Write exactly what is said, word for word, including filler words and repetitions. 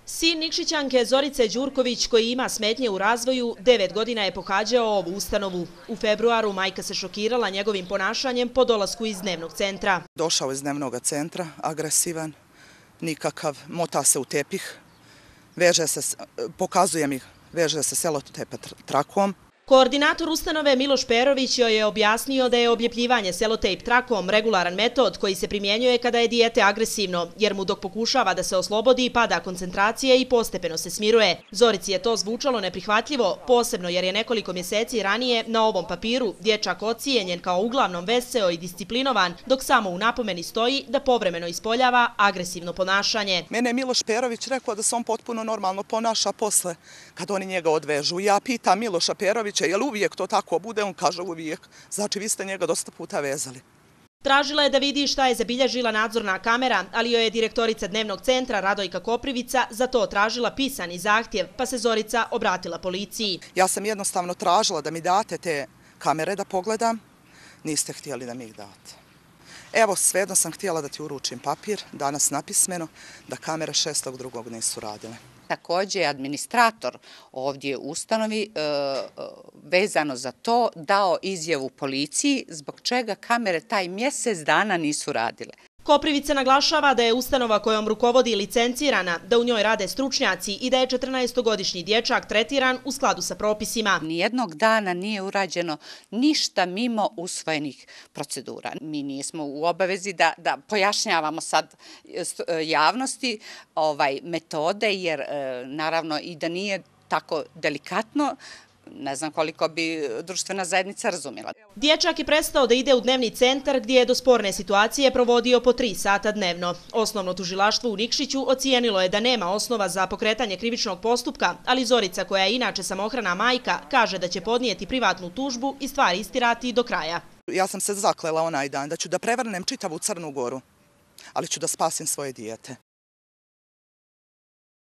Sin Nikšićanke Zorice Đurković, koji ima smetnje u razvoju, devet godina je pohađao ovu ustanovu. U februaru majka se šokirala njegovim ponašanjem po dolasku iz dnevnog centra. Došao iz dnevnog centra, agresivan, nikakav, mota se u tepih, veže se, pokazuje mi, veže se selotepa trakom. Koordinator ustanove Miloš Perović joj je objasnio da je obljepljivanje selotejp trakom regularan metod koji se primjenjuje kada je dijete agresivno, jer mu dok pokušava da se oslobodi pada koncentracije i postepeno se smiruje. Zorici je to zvučalo neprihvatljivo, posebno jer je nekoliko mjeseci ranije na ovom papiru dječak ocijenjen kao uglavnom veseo i disciplinovan, dok samo u napomeni stoji da povremeno ispoljava agresivno ponašanje. Mene je Miloš Perović rekao da se on potpuno normalno ponaša posle kad oni njega odvežu. Ja pitam Miloša Perovića je li uvijek to tako bude, on kaže uvijek. Znači vi ste njega dosta puta vezali. Tražila je da vidi šta je zabilježila nadzorna kamera, ali joj je direktorica dnevnog centra Radojka Koprivica za to tražila pisani zahtjev, pa se Zorica obratila policiji. Ja sam jednostavno tražila da mi date te kamere da pogledam, niste htjeli da mi ih date. Evo, svejedno sam htjela da ti uručim papir, danas napismeno, da kamere šestog drugog nisu radile. Također je administrator ovdje u ustanovi vezano za to dao izjavu policiji zbog čega kamere taj mjesec dana nisu radile. Koprivica naglašava da je ustanova kojom rukovodi licencirana, da u njoj rade stručnjaci i da je četrnaestogodišnji dječak tretiran u skladu sa propisima. Nijednog dana nije urađeno ništa mimo usvojenih procedura. Mi nismo u obavezi da, da pojašnjavamo sad javnosti ovaj, metode, jer naravno i da nije tako delikatno, ne znam koliko bi društvena zajednica razumjela. Dječak je prestao da ide u dnevni centar gdje je do sporne situacije provodio po tri sata dnevno. Osnovno tužilaštvo u Nikšiću ocijenilo je da nema osnova za pokretanje krivičnog postupka, ali Zorica, koja je inače samohrana majka, kaže da će podnijeti privatnu tužbu i stvari istirati do kraja. Ja sam se zaklela onaj dan da ću da prevrnem čitavu Crnu Goru, ali ću da spasim svoje dijete.